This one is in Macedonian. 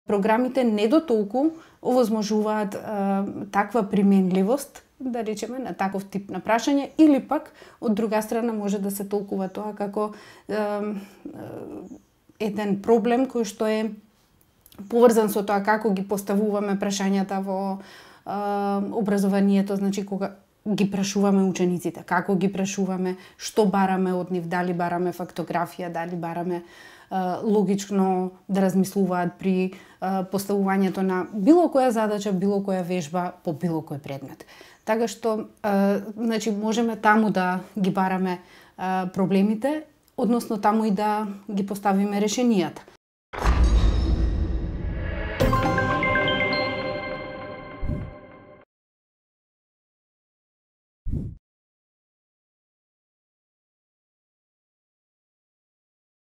програмите не дотолку овозможуваат таква применливост, да речеме, на таков тип на прашање, или пак од друга страна може да се толкува тоа како еден проблем кој што е поврзан со тоа како ги поставуваме прашањата во образованието, значи кога ги прашуваме учениците, како ги прашуваме, што бараме од нив, дали бараме фактографија, дали бараме логично да размислуваат при поставувањето на било која задача, било која вежба по било кој предмет. Така што значи можеме таму да ги бараме проблемите, односно таму и да ги поставиме решенијата.